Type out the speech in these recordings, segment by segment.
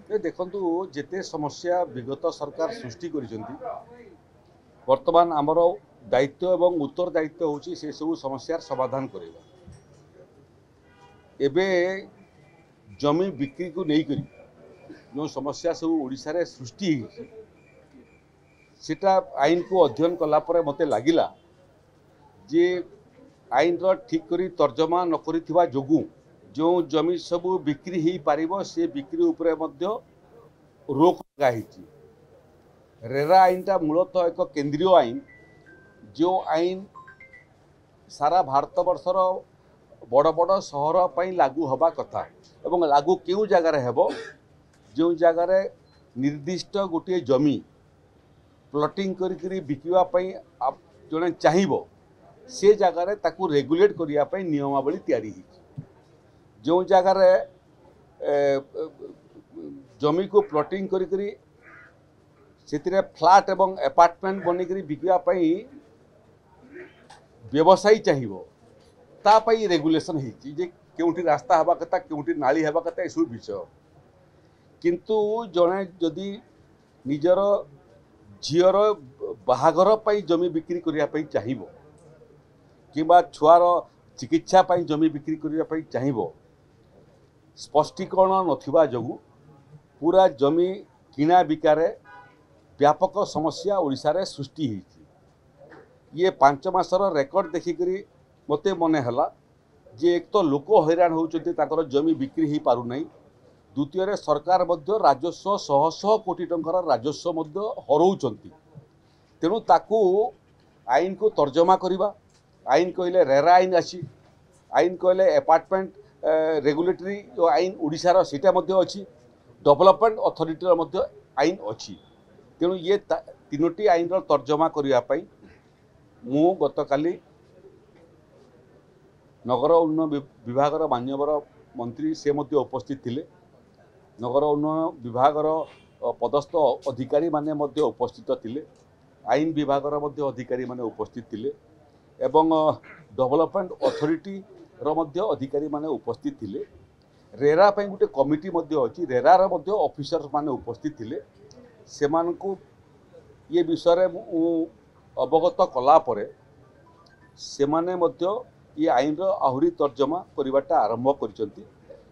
ଦେଖନ୍ତୁ, ଯେତେ ସମସ୍ୟା ବିଗତ ସରକାର ସୃଷ୍ଟି କରିଛନ୍ତି, ବର୍ତ୍ତମାନ ଆମର ଦାୟିତ୍ୱ ଏବଂ ଉତ୍ତରଦାୟିତ୍ୱ ହେଉଛି ସେସବୁ ସମସ୍ୟାର ସମାଧାନ କରିବା। ଏବେ ଜମି ବିକ୍ରିକୁ ନେଇକରି ଯେଉଁ ସମସ୍ୟା ସବୁ ଓଡ଼ିଶାରେ ସୃଷ୍ଟି ହେଇଛି, ସେଟା ଆଇନକୁ ଅଧ୍ୟୟନ କଲା ପରେ ମୋତେ ଲାଗିଲା ଯେ ଆଇନର ଠିକ୍ କରି ତର୍ଜମା ନ କରିଥିବା ଯୋଗୁଁ ଯେଉଁ ଜମି ସବୁ ବିକ୍ରି ହେଇପାରିବ, ସେ ବିକ୍ରି ଉପରେ ମଧ୍ୟ ରୋକ ଲଗା ହେଇଛି। ରେରା ଆଇନଟା ମୂଳତଃ ଏକ କେନ୍ଦ୍ରୀୟ ଆଇନ, ଯେଉଁ ଆଇନ ସାରା ଭାରତବର୍ଷର ବଡ଼ ବଡ଼ ସହର ପାଇଁ ଲାଗୁ ହେବା କଥା। ଏବଂ ଲାଗୁ କେଉଁ ଜାଗାରେ ହେବ? ଯେଉଁ ଜାଗାରେ ନିର୍ଦ୍ଦିଷ୍ଟ ଗୋଟିଏ ଜମି ପ୍ଲଟିଂ କରିକିରି ବିକିବା ପାଇଁ ଜଣେ ଚାହିଁବ, ସେ ଜାଗାରେ ତାକୁ ରେଗୁଲେଟ୍ କରିବା ପାଇଁ ନିୟମାବଳୀ ତିଆରି ହେଇଛି। ଯେଉଁ ଜାଗାରେ ଜମିକୁ ପ୍ଲଟିଂ କରିକିରି ସେଥିରେ ଫ୍ଲାଟ୍ ଏବଂ ଆପାର୍ଟମେଣ୍ଟ ବନେଇକରି ବିକିବା ପାଇଁ ବ୍ୟବସାୟୀ ଚାହିଁବ, ତା ପାଇଁ ରେଗୁଲେସନ୍ ହେଇଛି ଯେ କେଉଁଠି ରାସ୍ତା ହେବା କଥା, କେଉଁଠି ନାଳି ହେବା କଥା, ଏସବୁ ବିଷୟ। କିନ୍ତୁ ଜଣେ ଯଦି ନିଜର ଝିଅର ବାହାଘର ପାଇଁ ଜମି ବିକ୍ରି କରିବା ପାଇଁ ଚାହିଁବ କିମ୍ବା ଛୁଆର ଚିକିତ୍ସା ପାଇଁ ଜମି ବିକ୍ରି କରିବା ପାଇଁ ଚାହିଁବ, ସ୍ପଷ୍ଟୀକରଣ ନଥିବା ଯୋଗୁଁ ପୁରା ଜମି କିଣା ବିକାରେ ବ୍ୟାପକ ସମସ୍ୟା ଓଡ଼ିଶାରେ ସୃଷ୍ଟି ହେଇଛି। ଇଏ 5 ମାସର ରେକର୍ଡ଼ ଦେଖିକରି ମୋତେ ମନେ ହେଲା ଯେ ଏକ ତ ଲୋକ ହଇରାଣ ହେଉଛନ୍ତି, ତାଙ୍କର ଜମି ବିକ୍ରି ହେଇପାରୁନାହିଁ। ଦ୍ୱିତୀୟରେ ସରକାର ମଧ୍ୟ ରାଜସ୍ୱ, ଶହ ଶହ କୋଟି ଟଙ୍କାର ରାଜସ୍ୱ ମଧ୍ୟ ହରଉଛନ୍ତି। ତେଣୁ ତାକୁ ଆଇନକୁ ତର୍ଜମା କରିବା, ଆଇନ କହିଲେ ରେରା ଆଇନ ଅଛି, ଆଇନ କହିଲେ ଆପାର୍ଟମେଣ୍ଟ ରେଗୁଲେଟରୀ ଯେଉଁ ଆଇନ ଓଡ଼ିଶାର ସେଇଟା ମଧ୍ୟ ଅଛି, ଡେଭଲପମେଣ୍ଟ ଅଥରିଟିର ମଧ୍ୟ ଆଇନ ଅଛି। ତେଣୁ ଇଏ ତିନୋଟି ଆଇନର ତର୍ଜମା କରିବା ପାଇଁ ମୁଁ ଗତକାଲି ନଗର ଉନ୍ନୟନ ବିଭାଗର ମାନ୍ୟବର ମନ୍ତ୍ରୀ ସେ ମଧ୍ୟ ଉପସ୍ଥିତ ଥିଲେ, ନଗର ଉନ୍ନୟନ ବିଭାଗର ପଦସ୍ଥ ଅଧିକାରୀମାନେ ମଧ୍ୟ ଉପସ୍ଥିତ ଥିଲେ, ଆଇନ ବିଭାଗର ମଧ୍ୟ ଅଧିକାରୀମାନେ ଉପସ୍ଥିତ ଥିଲେ ଏବଂ ଡେଭଲପମେଣ୍ଟ ଅଥରିଟିର ମଧ୍ୟ ଅଧିକାରୀମାନେ ଉପସ୍ଥିତ ଥିଲେ। ରେରା ପାଇଁ ଗୋଟେ କମିଟି ମଧ୍ୟ ଅଛି, ରେରାର ମଧ୍ୟ ଅଫିସରମାନେ ଉପସ୍ଥିତ ଥିଲେ। ସେମାନଙ୍କୁ ଇଏ ବିଷୟରେ ମୁଁ ଅବଗତ କଲା ପରେ ସେମାନେ ମଧ୍ୟ ଇଏ ଆଇନର ଆହୁରି ତର୍ଜମା କରିବାଟା ଆରମ୍ଭ କରିଛନ୍ତି।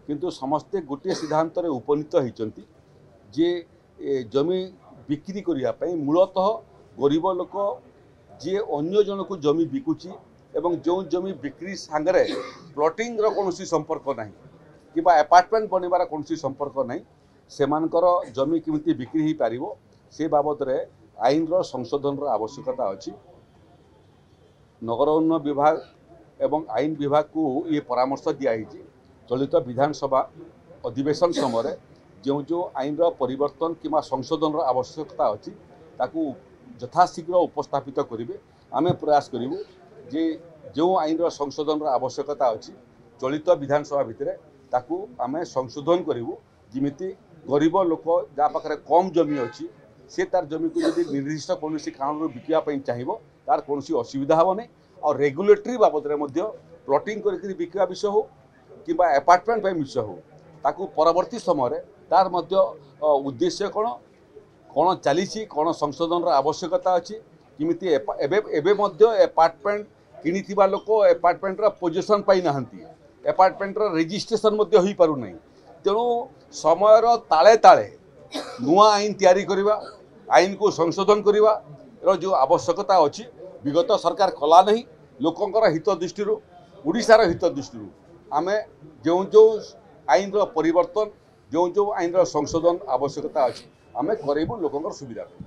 କିନ୍ତୁ ସମସ୍ତେ ଗୋଟିଏ ସିଦ୍ଧାନ୍ତରେ ଉପନୀତ ହେଇଛନ୍ତି ଯେ ଜମି ବିକ୍ରି କରିବା ପାଇଁ ମୂଳତଃ ଗରିବ ଲୋକ ଯିଏ ଅନ୍ୟ ଜଣକୁ ଜମି ବିକୁଛି ଏବଂ ଯେଉଁ ଜମି ବିକ୍ରି ସାଙ୍ଗରେ ପ୍ଲଟିଂର କୌଣସି ସମ୍ପର୍କ ନାହିଁ କିମ୍ବା ଆପାର୍ଟମେଣ୍ଟ ବନିବାର କୌଣସି ସମ୍ପର୍କ ନାହିଁ, ସେମାନଙ୍କର ଜମି କେମିତି ବିକ୍ରି ହେଇପାରିବ ସେ ବାବଦରେ ଆଇନର ସଂଶୋଧନର ଆବଶ୍ୟକତା ଅଛି। ନଗର ଉନ୍ନୟନ ବିଭାଗ ଏବଂ ଆଇନ ବିଭାଗକୁ ଇଏ ପରାମର୍ଶ ଦିଆହେଇଛି, ଚଳିତ ବିଧାନସଭା ଅଧିବେଶନ ସମୟରେ ଯେଉଁ ଯେଉଁ ଆଇନର ପରିବର୍ତ୍ତନ କିମ୍ବା ସଂଶୋଧନର ଆବଶ୍ୟକତା ଅଛି ତାକୁ ଯଥାଶୀଘ୍ର ଉପସ୍ଥାପିତ କରିବେ। ଆମେ ପ୍ରୟାସ କରିବୁ ଯେ ଯେଉଁ ଆଇନର ସଂଶୋଧନର ଆବଶ୍ୟକତା ଅଛି ଚଳିତ ବିଧାନସଭା ଭିତରେ ତାକୁ ଆମେ ସଂଶୋଧନ କରିବୁ, ଯେମିତି ଗରିବ ଲୋକ ଯାହା ପାଖରେ କମ୍ ଜମି ଅଛି ସେ ତାର ଜମିକୁ ଯଦି ନିର୍ଦ୍ଦିଷ୍ଟ କୌଣସି କାରଣରୁ ବିକିବା ପାଇଁ ଚାହିଁବ ତାର କୌଣସି ଅସୁବିଧା ହେବ ନାହିଁ। ଆଉ ରେଗୁଲେଟରୀ ବାବଦରେ ମଧ୍ୟ ପ୍ଲଟିଂ କରିକି ବିକିବା ବିଷୟ ହେଉ କିମ୍ବା ଆପାର୍ଟମେଣ୍ଟ ପାଇଁ ବିଷୟ ହେଉ, ତାକୁ ପରବର୍ତ୍ତୀ ସମୟରେ ତାର ମଧ୍ୟ ଉଦ୍ଦେଶ୍ୟ କ'ଣ, କ'ଣ ଚାଲିଛି, କ'ଣ ସଂଶୋଧନର ଆବଶ୍ୟକତା ଅଛି, କେମିତି ଏବେ ଏବେ ମଧ୍ୟ ଆପାର୍ଟମେଣ୍ଟ କିଣିଥିବା ଲୋକ ଆପାର୍ଟମେଣ୍ଟର ପୋଜିସନ୍ ପାଇନାହାନ୍ତି, ଆପାର୍ଟମେଣ୍ଟର ରେଜିଷ୍ଟ୍ରେସନ୍ ମଧ୍ୟ ହୋଇପାରୁନାହିଁ। ତେଣୁ ସମୟର ତାଳେ ତାଳେ ନୂଆ ଆଇନ ତିଆରି କରିବା, ଆଇନକୁ ସଂଶୋଧନ କରିବାର ଯେଉଁ ଆବଶ୍ୟକତା ଅଛି ବିଗତ ସରକାର କଲା ନାହିଁ। ଲୋକଙ୍କର ହିତ ଦୃଷ୍ଟିରୁ, ଓଡ଼ିଶାର ହିତ ଦୃଷ୍ଟିରୁ ଆମେ ଯେଉଁ ଯେଉଁ ଆଇନର ପରିବର୍ତ୍ତନ, ଯେଉଁ ଯେଉଁ ଆଇନର ସଂଶୋଧନ ଆବଶ୍ୟକତା ଅଛି ଆମେ କରାଇବୁ ଲୋକଙ୍କର ସୁବିଧା ପାଇଁ।